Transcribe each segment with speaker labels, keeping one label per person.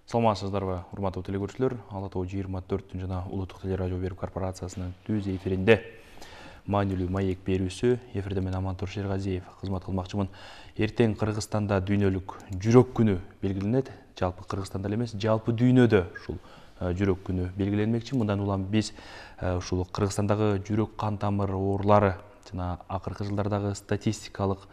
Speaker 1: Саламатсыздарбы, урматтуу телекөрүүчүлөр. Ала Тоо 24 жана Улуттук телерадио берүү корпорациясынын түз эфиринде маанилүү маек берүүсү эфирде мен Амантур Шергазиев кызмат кылмакчымын. Эртең Кыргызстанда дүйнөлүк жүрөк күнү белгиленет. Жалпы Кыргызстанда эле эмес, жалпы дүйнөдө ушул жүрөк күнү белгиленмекчи. Мындан улам биз ушул Кыргызстандагы жүрөк кан тамыр оорулары жана акыркы жылдардагы статистикалык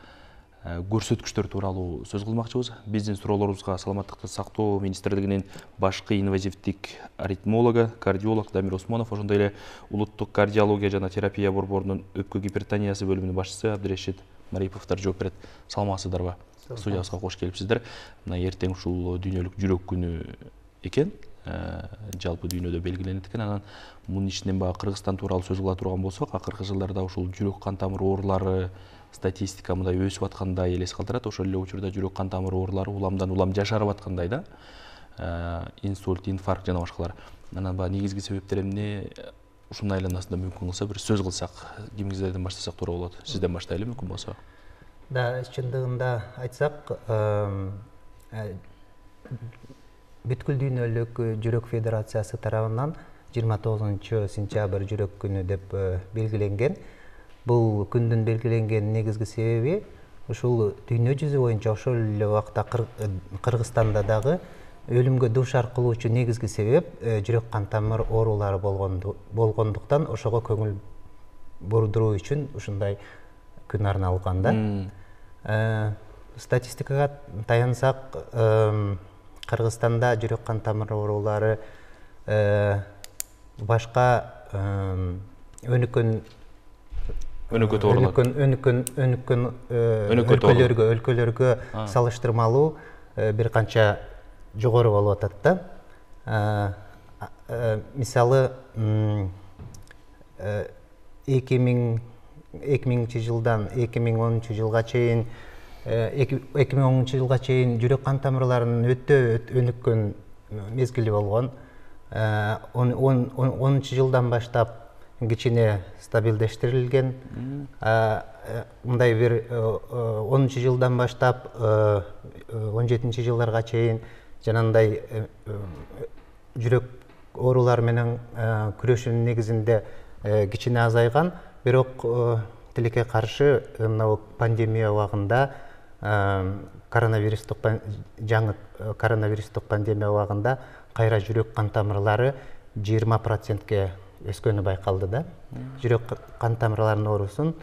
Speaker 1: көрсөткүчтөр тууралуу сөз кылмакчыбыз. Биздин суроолорубузга Саламаттыкты сактоо министрлигинин башкы инвазивдик аритмологу, кардиолог Дамир Осмонов, ошондой эле Улуттук кардиология жана терапия борборунун өпкө гипертониясы бөлүмүнүн башчысы Абдырешит Мариповдор жооп берет. Саламатсыздарбы? Студиябызга кош келипсиздер. Мына эртең ушул дүйнөлүк жүрөк күнү экен. Жалпы дүйнөдө белгиленет экен. Анан мунун ичинен баягы Кыргызстан тууралуу сөз кыла турган болсок, акыркы жылдарда ушул жүрөк кан тамыр оорулары статистика мындай өсүп аткандай элес калтырат. Ошол эле учурда жүрөк кан тамыр оорулары уламдан улам жашарып аткандай да. Инсульт, инфаркт жана башкалар. Анан баягы негизги себептер эмне? Ушунун айланасында мүмкүн кылса бир сөз кылсак, кимиңиздерден баштасак туура болот. Сизден баштайлы мүмкүн болсо.
Speaker 2: Да, чындыгында айтсак, бүткүл дүйнөлүк жүрөк федерациясы тарабынан 29-сентябрь жүрөк күнү деп белгиленген. Бул күндүн белгиленген негизги себеби ушул дүйнө жүзү боюнча ошол эле убакта Кыргызстанда дагы өлүмгө дуушар кылуучу негизги себеп жүрөк кан тамыр оорулары болгондуктан ошого көңүл бурдуруу үчүн ушундай күн арналган да. Статистикага таянсак, Кыргызстанда жүрөк кан тамыр оорулары башка өнүккөн өлкөлөргө салыштырмалуу бир канча жогору болуп атат да. Мисалы 2000 жылдан 2010 жылга чейин 2010 жылга чейин жүрөк кан тамырларынын өтө өнүккөн мезгили болгон. 10 жылдан баштап кичине стабилдештирилген. Мындай бир 10 жылдан баштап 17 жылдарга чейин жанагындай жүрөк оорулары менен күрөшүүнүн негизинде кичине азайган. Бирок тилекке каршы мына пандемия убагында, жаңы коронавирустук пандемия убагында кайра жүрөк кан тамырлары 20%ке өскөнү байкалды да. Жүрөк кан тамырларынын оорусун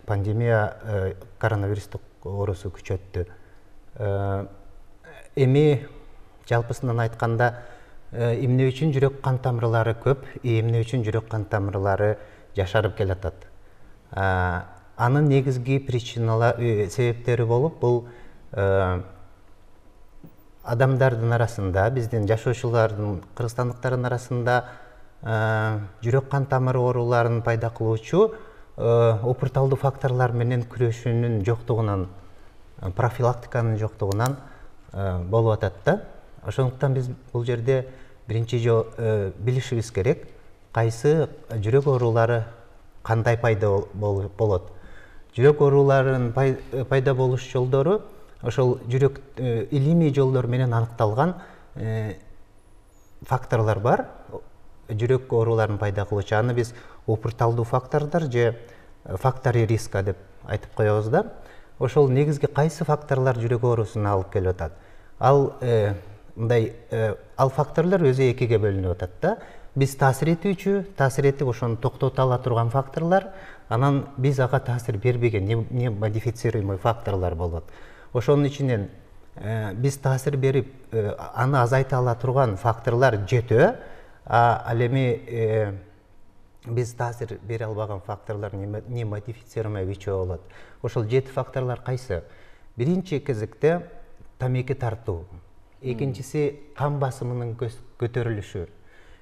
Speaker 2: пандемия коронавирустук оорусу күчөттү. Эми жалпысынан айтканда, эмне үчүн жүрөк кан тамырлары көп, эмне үчүн жүрөк кан тамырлары жашарып келатат? Анын негизги себептери болуп, бул адамдардын арасында, биздин жашоочулардын, кыргызстандыктардын арасында жүрөк кан тамыр ооруларын пайда кылуучу опурталдуу факторлор менен күрөшүүнүн жоктугунан, профилактиканын жоктугунан болуп атат да. Ошондуктан биз бул жерде биринчи билишибиз керек, кайсы жүрөк оорулары кандай пайда болот. Жүрөк ооруларынын пайда болуш жолдору ошол жүрөк илимий жолдор менен аныкталган факторлор бар. Жүрөк ооруларын пайда кылуучу, аны биз опурталдуу фактордор же фактори риска деп айтып коебуз да. Ошол негизги кайсы факторлор жүрөк оорусуна алып келип атат? Ал факторлор өзү экиге бөлүнүп атат да. Биз таасир этип ошону токтото ала турган факторлор, анан биз ага таасир бербеген, не модифицируемый факторлор болот. Ошонун ичинен биз таасир берип, аны азайта ала турган факторлор жетөө, ал эми биз таасир бере албаган факторлор не модифицируемый үчөө болот. Ошол 7 факторлор кайсы? Биринчи кезекте тамеки тартуу, экинчиси кан басымынын көтөрүлүшү,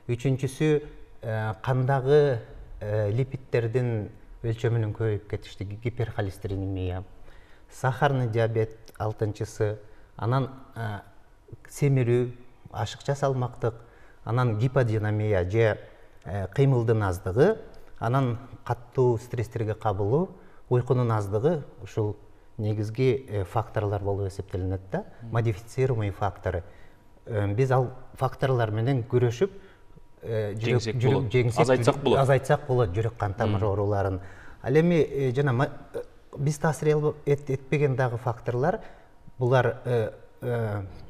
Speaker 2: үчүнчүсү кандагы липидтердин өлчөмүнүн көбөйүп кетиштиги, гиперхолестеринемия, сахарный диабет, 6-чысы, анан семирүү, ашыкча салмактык, анан гиподинамия же кыймылдын аздыгы, анан каттуу стресстерге кабылуу, уйкунун аздыгы ушул негизги факторлор болуп эсептелинет да. Модифицируемый факторы. биз ал факторлор менен күрөшүп
Speaker 1: азайтсак
Speaker 2: болот жүрөк кан тамыр ооруларын. Ал эми жана биз таасир этпеген дагы факторлор булар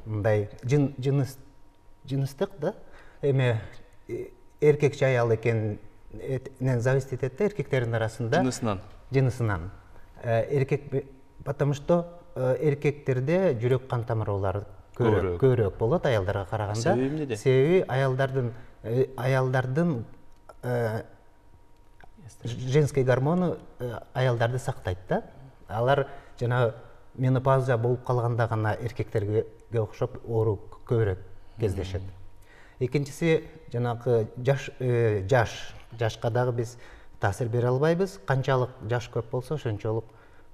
Speaker 2: мындай жыныстык да, эми эркек же аял экенинен зависит этет да, эркектердин арасында жынысынан. Эркек, потому что эркектерде жүрөк кан тамыр оорулары көбүрөөк болот аялдарга караганда.
Speaker 1: Себеби эмнеде?
Speaker 2: Себеби аялдардын женский гормону аялдарды сактайт да. Алар жана менопауза болуп калганда гана эркектерге окшоп оору көбүрөөк кездешет. Экинчиси жанагы жашка дагы биз таасир бере албайбыз. Канчалык жаш көп болсо ошончолук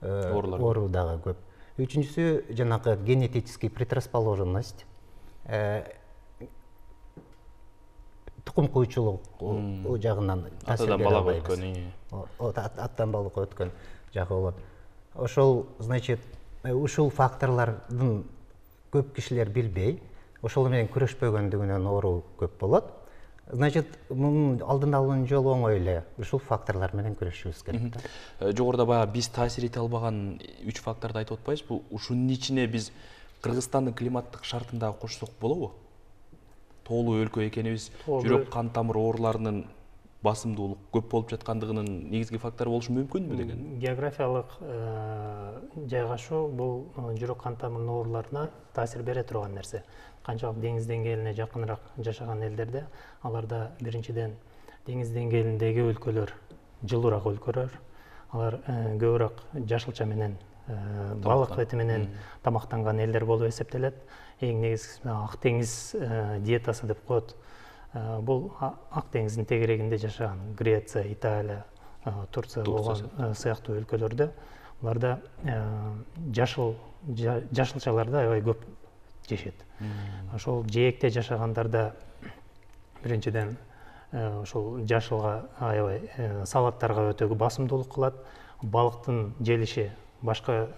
Speaker 2: оору дагы көп. Үчүнчүсү жанагы генетический предрасположенность, тукум куючулук жагынан таасир бере албайбыз. Аттан балага өткөн жагы болот. Ошол, значит, ушул факторлордун көп кишилер билбей, ошол менен күрөшпөгөндүгүнөн оору көп болот. Значит, мунун алдын алуунун жолу оңой эле. Ушул факторлор менен күрөшүбүз керек.
Speaker 1: Жогоруда баягы биз таасир эте албаган 3 факторду айтып атпайбызбы? Ушунун ичине биз Кыргызстандын климаттык шартын дагы кошсок болобу? Тоолуу өлкө экенибиз, жүрөк кан тамыр ооруларынын басымдуулук көп болуп жаткандыгынын негизги фактору болушу мүмкүнбү деген?
Speaker 3: Географиялык жайгашуу бул жүрөк кан тамыр ооруларына таасир бере турган нерсе. Канчалык деңиз деңгээлине жакыныраак жашаган элдерде, аларда биринчиден деңиз деңгээлиндеги өлкөлөр жылуураак өлкөлөр, алар көбүрөөк жашылча менен балык эти менен тамактанган элдер болуп эсептелет. Эң негизгиси Ак деңиз диетасы деп коет. Бул Ак деңиздин тегерегинде жашаган Греция, Италия, Турция болгон сыяктуу өлкөлөрдө буларда жашылчаларды аябай көп жешет. Ошол жээкте жашагандарда биринчиден ошол жашылга аябай салаттарга өтө басымдуулук кылат. Балыктын желиши башка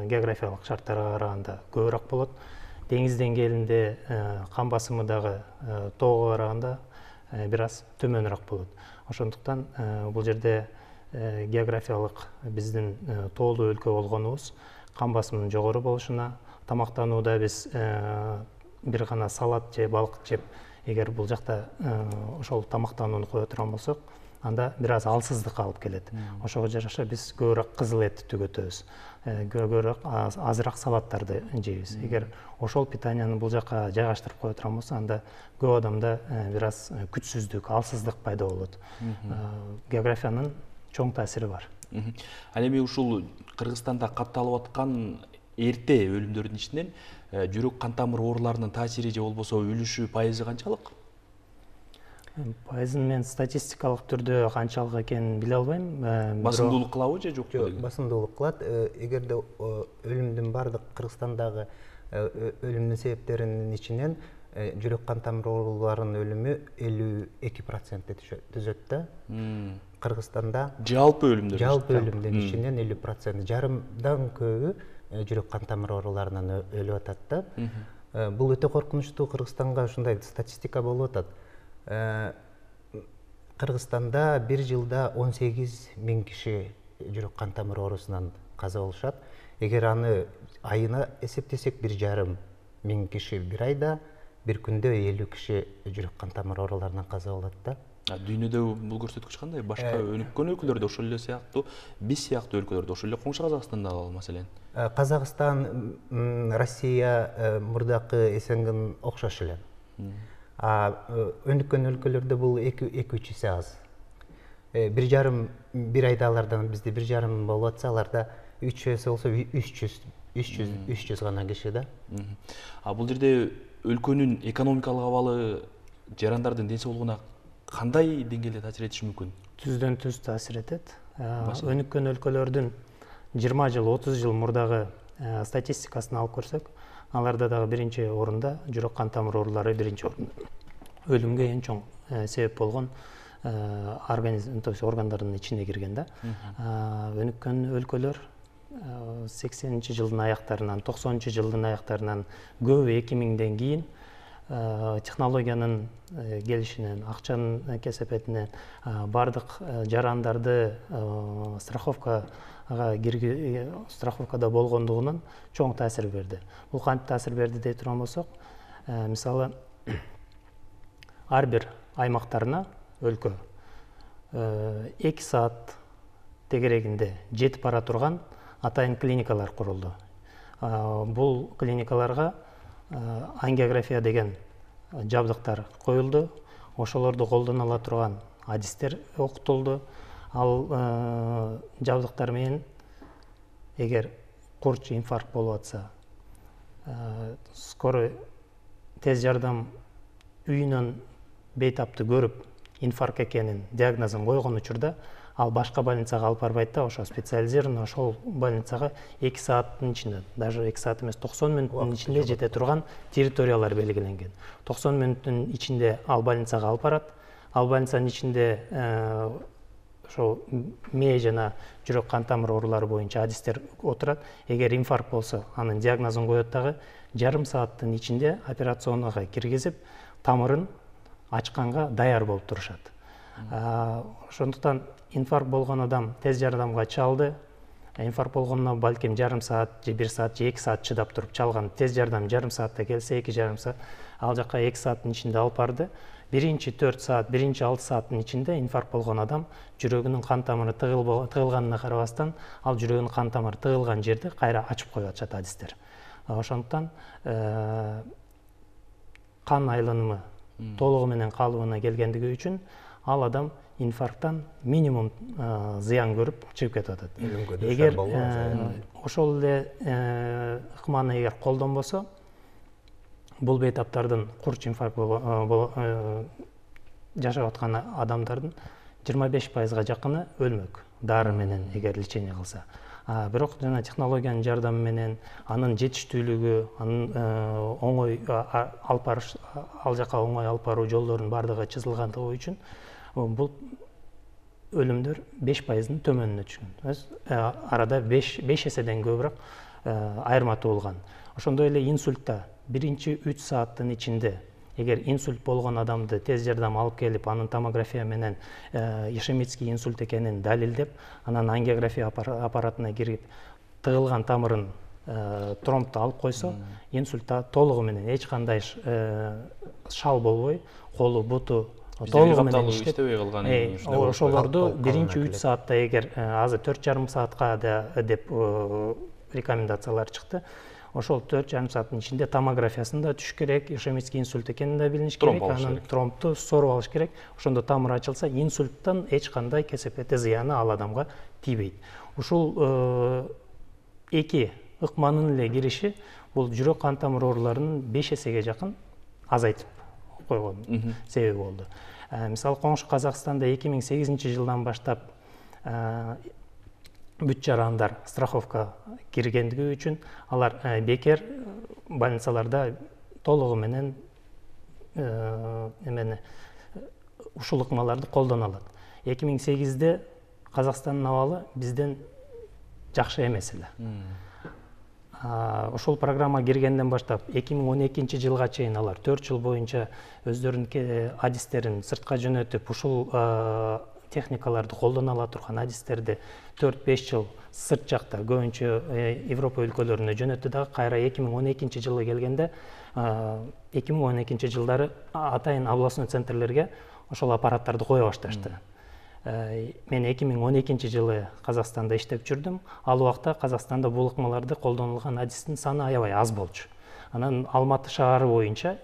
Speaker 3: географиялык шарттарга караганда көбүрөөк болот. Деңиз деңгээлинде кан басымы дагы тоого караганда бир аз төмөнүрөөк болот. Ошондуктан бул жерде географиялык биздин тоолуу өлкө болгонубуз кан басымынын жогору болушуна, тамактанууда биз бир гана салат же балык жеп, эгер бул жакта ошол тамактанууну кое турган болсок, анда бир аз алсыздыкка алып келет. Ошого жараша биз көбүрөөк кызыл эт түгөтөбүз, көбүрөөк азыраак салаттарды жейбиз. Эгер ошол питанияны бул жака жайгаштырып кое турган болсо, анда көп адамда бир аз күчсүздүк, алсыздык пайда болот. Географиянын чоң таасири бар.
Speaker 1: Ал эми ушул Кыргызстанда катталып аткан эрте өлүмдөрдүн ичинен жүрөк кан тамыр ооруларынын таасири же болбосо үлүшү, пайызы канчалык?
Speaker 3: Пайызын мен статистикалык түрдө канчалык экенин биле албайм.
Speaker 1: Басымдуулук кылабы же жокпу?
Speaker 2: Жок, басымдуулук кылат. Эгерде өлүмдүн бардык Кыргызстандагы өлүмдүн себептеринин ичинен жүрөк кан тамыр ооруларынын өлүмү 52% түзөт да. Кыргызстанда
Speaker 1: жалпы өлүмдөрдүн
Speaker 2: ичинен 50%, жарымдан көбү жүрөк кан тамыр ооруларынан өлүп атат да. Бул өтө коркунучтуу. Кыргызстанга ушундай статистика болуп атат. Кыргызстанда бир жылда 18.000 киши жүрөк кан тамыр оорусунан каза болушат. Эгер аны айына эсептесек, 1,5 киши бир айда, бир күндө 50 киши жүрөк кан тамыр ооруларынан каза болот да.
Speaker 1: Дүйнөдө бул көрсөткүч кандай? Башка өнүккөн өлкөлөрдө ошол эле сыяктуу, биз сыяктуу өлкөлөрдө, ошол эле коңшу Казакстанда ал маселен.
Speaker 2: Казакстан, Россия мурдакы СНГнын окшош эле. Өнүккөн өлкөлөрдө бул 2-3 эсе аз. 1,5 бир айда алардан бизде 1,5 болуп атса, аларда 3 эсе болсо 300 гана киши да.
Speaker 1: Бул жерде өлкөнүн экономикалык абалы жарандардын ден соолугуна кандай деңгээлде таасир этиши мүмкүн?
Speaker 3: Түздөн түз таасир этет. Өнүккөн өлкөлөрдүн 20 жыл, 30 жыл мурдагы статистикасын алып көрсөк, аларда дагы биринчи орунда жүрөк кан тамыр оорулары биринчи орунда. Өлүмгө эң чоң себеп болгон организм, то есть органдардын ичине кирген да. Өнүккөн өлкөлөр 80-жылдын аяктарынан, 90-жылдын аяктарынан көбү 2000ден кийин технологиянын келишинен, акчанын кесепетинен бардык жарандарды страховкада болгондугунан чоң таасир берди. Бул кантип таасир берди дей турган болсок, мисалы ар бир аймактарына өлкө 2 саат тегерегинде жетип бара турган атайын клиникалар курулду. Бул клиникаларга ангиография деген жабдыктар коюлду. Ошолорду колдоно ала турган адистер окутулду. Ал жабдыктар менен эгер курч инфаркт болуп атса, скорый тез жардам үйүнөн бейтапты көрүп, инфаркт экенин диагнозун койгон учурда ал башка больницага алып барбайт да, ошо специализированный ошол больницага 2 сааттын ичинде, даже 2 саат эмес, 90 мүнөттүн ичинде жете турган территориялар белгиленген. 90 мүнөттүн ичинде ал больницага алып барат. Ал больницанын ичинде ошо мээ жана жүрөк кан тамыр оорулары боюнча адистер отурат. Эгер инфаркт болсо, анын диагнозун коет дагы, жарым сааттын ичинде операционага киргизип, тамырын ачканга даяр болуп турушат. Ошондуктан инфаркт болгон адам тез жардамга чалды. Инфаркт болгондо балким жарым саат же 1 саат же 2 саат чыдап туруп чалган. Тез жардам жарым саатта келсе, 2,5 саат, ал жака 2 сааттын ичинде алып барды. Биринчи 4 саат, биринчи 6 сааттын ичинде инфаркт болгон адам жүрөгүнүн кан тамыры тыгылганына карабастан, ал жүрөгүнүн кан тамыры тыгылган жерди кайра ачып коюп атышат адистер. Ошондуктан кан айланымы толугу менен калыбына келгендиги үчүн ал адам инфаркттан минимум зыян көрүп чыгып кетип атат. Эгер ошол эле ыкманы эгер колдонбосо, бул бейтаптардын курч инфаркт жашап аткан адамдардын 25%га жакыны өлмөк дары менен эгер лечение кылса. Бирок жана технологиянын жардамы менен, анын жетиштүүлүгү, анын оңой алып барыш, ал жака оңой алып баруу жолдорунун бардыгы чызылгандыгы үчүн бул өлүмдөр 5%-дын төмөнүнө түшкөн. Арада 5 эседен көбүрөөк айырма туулган. Ошондой эле инсультта биринчи 3 сааттын ичинде эгер инсульт болгон адамды тез жардам алып келип, анын томография менен ишемический инсульт экенин далилдеп, анан ангиография аппаратына кирип, тыгылган тамырын тромбду алып койсо, инсультта толугу менен эч кандай шал болбой, колу, буту толугу менен иштебей калган. Ошолорду биринчи 3 саатта эгер азыр 4,5 саатка деп рекомендациялар чыкты. Ошол 4,5 сааттын ичинде томографиясын да түш керек, ишемический инсульт экенин да билиш керек, анан тромбду соруп алыш керек. Ошондо тамыр ачылса, инсульттан эч кандай кесепети зыяны ал адамга тийбейт. Ушул эки ыкманын эле кириши бул жүрөк кан тамыр ооруларынын 5 эсеге жакын азайтып койгон себеби болду. Мисалы, коңшу Казакстанда 2008-жылдан баштап бүт жарандар страховка киргендиги үчүн алар бекер больницаларда толугу менен ушул ыкмаларды колдоно алат. 2008-де Казакстандын абалы бизден жакшы эмес эле. Ошол программа киргенден баштап 2012-жылга чейин алар 4 жыл боюнча өздөрүнүн адистерин сыртка жөнөтүп, ушул техникаларды колдоно ала турган адистерди 4-5 жыл сырт жакта көбүнчө Европа өлкөлөрүнө жөнөттү дагы. Кайра 2012-жылы келгенде 2012-жылдары атайын областной центрлерге ошол аппараттарды кое башташты. Мен 2012-жылы Казакстанда иштеп жүрдүм. Ал убакта Казакстанда бул ыкмаларды колдонулган адистин саны аябай аз болчу. Анан Алматы шаары боюнча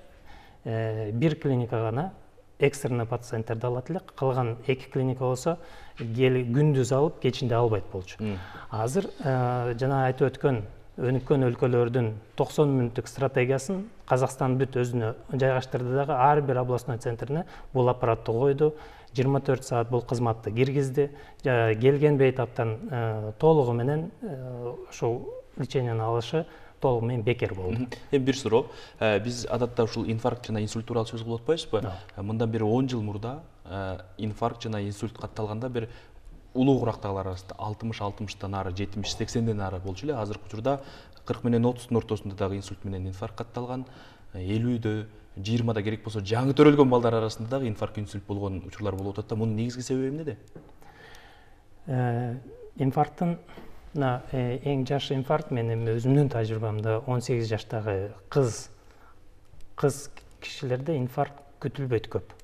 Speaker 3: бир клиника гана экстренный пациенттерди алат эле. Калган 2 клиника болсо күндүз алып, кечинде албайт болчу. Азыр жана айтып өткөн өнүккөн өлкөлөрдүн 90 мүнөттүк стратегиясын Казакстан бүт өзүнө жайгаштырды дагы. Ар бир областной центрине бул аппаратты койду. 24 саат бул кызматты киргизди. Келген бейтаптан толугу менен ошол лечениени алышы толугу менен бекер болду.
Speaker 1: Бир суроо. Биз адатта ушул инфаркт жана инсульт тууралуу сөз кылып атпайбызбы? Мындан бери 10 жыл мурда инфаркт жана инсульт катталганда бир улуу курактагылар арасында 60-60тан ары, 70-80ден ары болчу эле. Азыркы учурда 40 менен 30-тун ортосунда дагы инсульт менен инфаркт катталган. 50-дө 20-да керек болсо жаңы төрөлгөн балдар арасында дагы инфаркт инсульт болгон учурлар болуп атат да. Мунун негизги себеби эмнеде?
Speaker 3: Инфаркттын эң жаш инфаркт менин өзүмдүн тажрыйбамда 18 жаштагы кыз кишилерде инфаркт күтүлбөйт көп.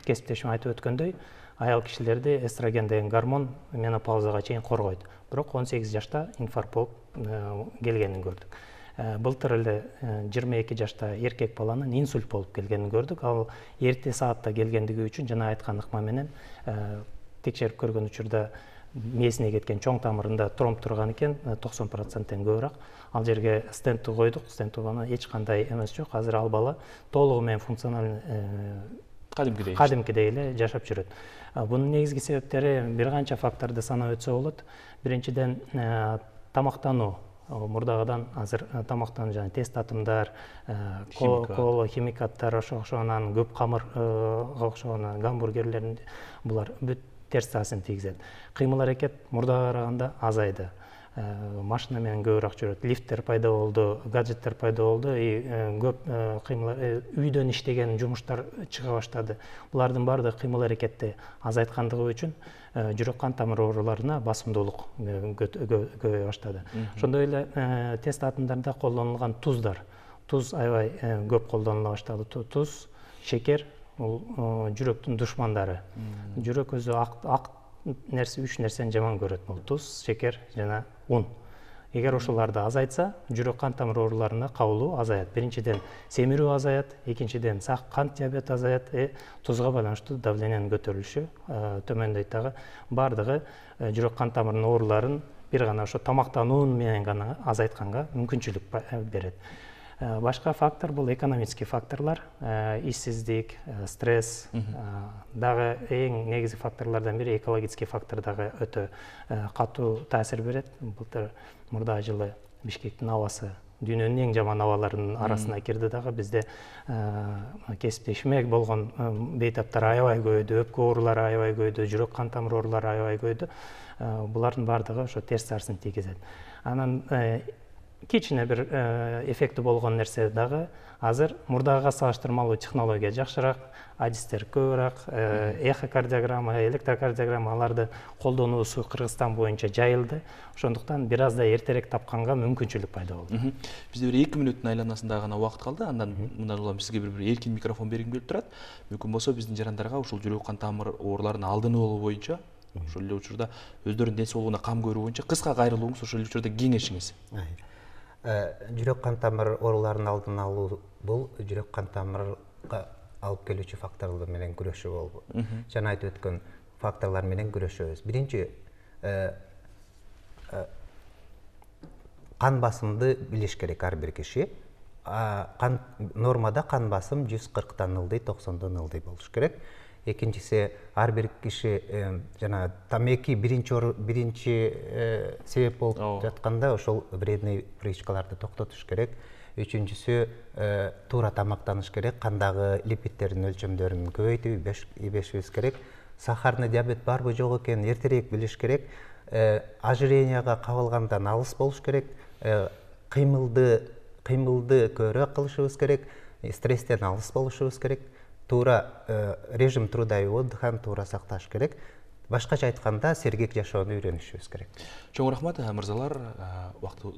Speaker 3: Кесиптешим айтып өткөндөй, аял кишилерди эстроген деген гормон менопаузага чейин коргойт. Бирок 18 жашта инфаркт болуп келгенин көрдүк. Былтыр эле 22 жашта эркек баланын инсульт болуп келгенин көрдүк. Ал эрте саатта келгендиги үчүн жана айткан ыкма менен текшерип көргөн учурда мээсине кеткен чоң тамырында тромб турган экен, 90%-тен көбүрөөк. Ал жерге стентти койдук, стентти болгондон эч кандай эмес жок. Азыр ал бала толугу менен функционалдуу кадимкидей эле жашап жүрөт. Бунун негизги себептери бир канча факторду санап өтсө болот. Биринчиден тамактануу. Мурдагыдан азыр тамактануу жана тез татымдар, кола, химикаттар, ошогонан көп камырга окшогон гамбургерлердин булар бүт терс таасирин тийгизет. Кыймыл аракет мурдага караганда азайды. Машина менен көбүрөөк жүрөт, лифттер пайда болду, гаджеттер пайда болду, көп кыймыл үйдөн иштеген жумуштар чыга баштады. Булардын баардыгы кыймыл аракетти азайткандыгы үчүн жүрөк кан тамыр ооруларына басымдуулук көбөйө баштады. Ошондой эле тез татымдарда колдонулган туз аябай көп колдонула баштады. Туз, шекер бул жүрөктүн душмандары. Жүрөк өзү ак нерсе, 3 нерсени жаман көрөт. Бул туз, шекер жана un. Эгер ошолорду азайтса, жүрөк кан тамыр ооруларына кабылуу азаят. Биринчиден семирүү азаят, экинчиден кант диабети азаят, тузга байланыштуу давлениянын көтөрүлүшү төмөндөйт дагы. Бардыгы жүрөк кан тамырынын ооруларын бир гана ошо тамактануу менен гана азайтканга мүмкүнчүлүк берет. Башка фактор бул экономический факторлор, ишсиздик, стресс, дагы эң негизги факторлордон бири экологический фактор дагы өтө катуу таасир берет. Былтыр мурдагы жылы Бишкектин абасы дүйнөнүн эң жаман абаларынын арасына кирди дагы. Бизде кесиптешиме болгон бейтаптар аябай көбөйдү, өпкө оорулары аябай көбөйдү, жүрөк кан тамыр оорулары аябай көбөйдү. Булардын баардыгы ошо терс таасирин тийгизет. Анан кичине бир эффекти болгон нерсе дагы азыр мурдагыга салыштырмалуу технология жакшыраак, адистер көбүрөөк, эхокардиограмма, электрокардиограмма аларды колдонуусу Кыргызстан боюнча жайылды. Ошондуктан бир аз да эртерээк тапканга мүмкүнчүлүк пайда болду.
Speaker 1: Бизде бир 2 мүнөттүн айланасында гана убакыт калды. Андан мындан улам сизге бир эркин микрофон бергим келип турат. Мүмкүн болсо биздин жарандарга ушул жүрөк кан тамыр ооруларынын алдын алуу боюнча, ошол эле учурда өздөрүнүн ден соолугуна кам көрүү боюнча кыска кайрылууңуз, ошол эле учурда кеңешиңиз.
Speaker 2: Жүрөк кан тамыр ооруларынын алдын алуу бул жүрөк кан тамырга алып келүүчү факторлор менен күрөшүү болду. Жана айтып өткөн факторлор менен күрөшөбүз. Биринчи кан басымды билиш керек ар бир киши. Нормада кан басым 140-тан ылдый, 90-дон ылдый болуш керек. Экинчиси ар бир киши жана тамеки биринчи себеп болуп жатканда ошол вредный привычкаларды токтотуш керек. Үчүнчүсү туура тамактаныш керек, кандагы липидтердин өлчөмдөрүн көбөйтүп ийбешибиз керек. Сахарный диабет барбы жок экенин эртерээк билиш керек. Ожиренияга кабылгандан алыс болуш керек. Кыймылды көбүрөөк кылышыбыз керек. Стресстен алыс болушубуз керек. Туура режим труда и отдыхан туура сакташ керек. Башкача айтканда сергек жашоону үйрөнүшүбүз керек.
Speaker 1: Чоң рахмат мырзалар,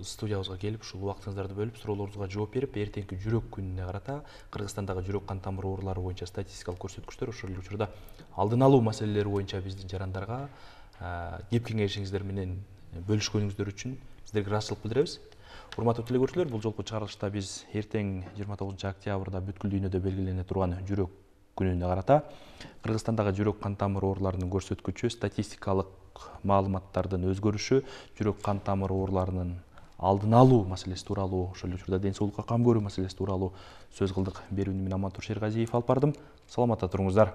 Speaker 1: студиябызга келип, ушул убактыңыздарды бөлүп, суроолоруңузга жооп берип, эртеңки жүрөк күнүнө карата Кыргызстандагы жүрөк кан тамыр оорулары боюнча статистикалык көрсөткүчтөр, ошол эле учурда алдын алуу маселелери боюнча биздин жарандарга кеп кеңешиңиздер менен бөлүшкөнүңүздөр үчүн сиздерге ыраазычылык билдиребиз. Урматтуу телекөрүүчүлөр, бул жолку чыгарылышта биз эртең 29 октябрда бүткүл дүйнөдө белгилене турган жүрөк күнүнө карата Кыргызстандагы жүрөк кан тамыр ооруларынын көрсөткүчү, статистикалык маалыматтардын өзгөрүшү, жүрөк кан тамыр ооруларынын алдын алуу маселеси тууралуу, ошол эле учурда ден соолукка кам көрүү маселеси тууралуу сөз кылдык. Берүүнү мен Амантур Шергазиев алып бардым. Саламатта туруңуздар.